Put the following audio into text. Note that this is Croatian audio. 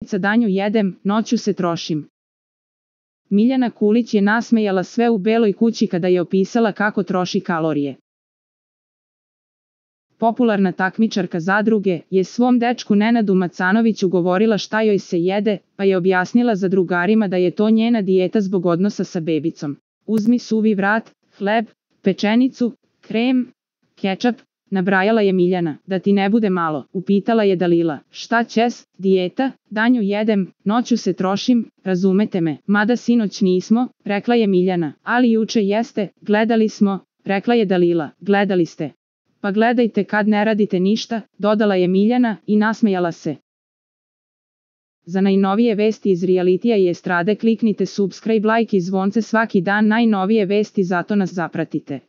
novca danju jedem, noću se trošim. Miljana Kulić je nasmejala sve u Beloj kući kada je opisala kako troši kalorije. Popularna takmičarka zadruge je svom dečku Nenadu Macanoviću govorila šta joj se jede, pa je objasnila zadrugarima da je to njena dijeta zbog odnosa sa bebicom. Uzmi suvi vrat, hleb, pečenicu, krem, kečap, nabrajala je Miljana. Da ti ne bude malo, upitala je Dalila. Šta ćes, dijeta, danju jedem, noću se trošim, razumete me. Mada sinoć nismo, rekla je Miljana. Ali juče jeste, gledali smo, rekla je Dalila. Gledali ste. Pa gledajte kad ne radite ništa, dodala je Miljana i nasmejala se. Za najnovije vesti iz realitija i estrade kliknite subscribe, like i zvonce svaki dan, najnovije vesti, zato nas zapratite.